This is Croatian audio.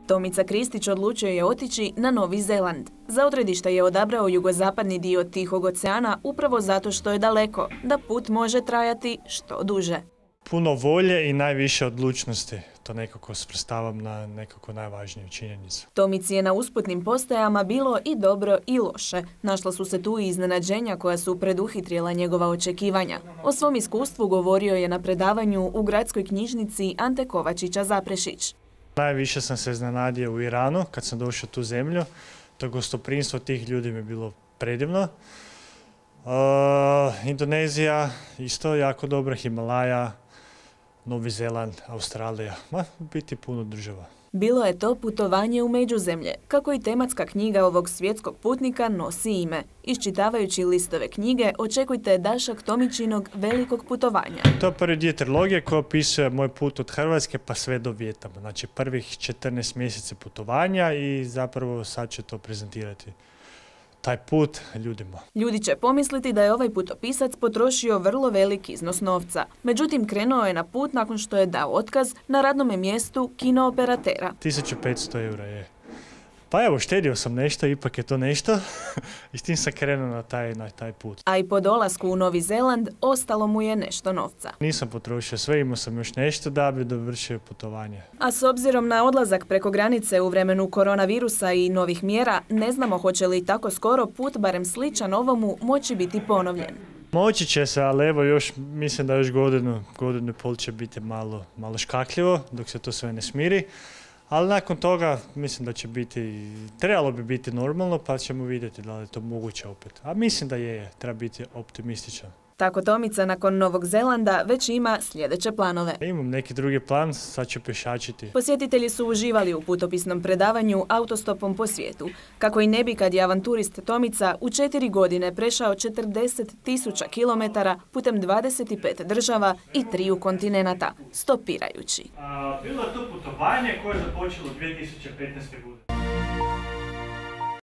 Tomica Kristić odlučio je otići na Novi Zeland. Za odredište je odabrao jugozapadni dio Tihog oceana upravo zato što je daleko, da put može trajati što duže. Puno volje i najviše odlučnosti. To nekako svrstavam na nekako najvažniju činjenicu. Tomici je na usputnim postajama bilo i dobro i loše. Našla su se tu i iznenađenja koja su preduhitrila njegova očekivanja. O svom iskustvu govorio je na predavanju u gradskoj knjižnici Ante Kovačića Zaprešić. Najviše sam se iznenadio u Iranu kad sam došao u tu zemlju. To gostoprimstvo tih ljudi mi je bilo predivno. Indonezija isto jako dobra, Himalaja, Novi Zeland, Australija, biti puno država. Bilo je to putovanje u međuzemlje, kako i tematska knjiga ovog svjetskog putnika nosi ime. Iščitavajući listove knjige, očekujte dašak Tomičinog velikog putovanja. To je prvi dio trilogije koji opisuje moj put od Hrvatske pa sve do Vijetnama. Znači prvih 14 mjeseci putovanja i zapravo sad će to prezentirati. Taj put ljudima. Ljudi će pomisliti da je ovaj putopisac potrošio vrlo velik iznos novca. Međutim, krenuo je na put nakon što je dao otkaz na radnome mjestu kinooperatera. 1500 eura je. Pa evo, štedio sam nešto, ipak je to nešto i s tim sam krenuo na taj put. A i po dolasku u Novi Zeland ostalo mu je nešto novca. Nisam potrošio sve, imao sam još nešto da bi dovršio putovanje. A s obzirom na odlazak preko granice u vremenu koronavirusa i novih mjera, ne znamo hoće li tako skoro put, barem sličan ovomu, moći biti ponovljen. Moći će se, ali evo još, mislim da još godinu i pol će biti malo škakljivo dok se to sve ne smiri. Ali nakon toga mislim da će biti, trebalo bi biti normalno pa ćemo vidjeti da li je to moguće opet. A mislim da treba biti optimističan. Tako Tomica nakon Novog Zelanda već ima sljedeće planove. Imam neki drugi plan, sad ću pješačiti. Posjetitelji su uživali u putopisnom predavanju Autostopom po svijetu. Kako i ne bi kad je avanturist Tomica u 4 godine prešao 40.000 kilometara putem 25 država i 3 kontinenata, stopirajući. Bilo je to putovanje koje je započelo 2015. godine.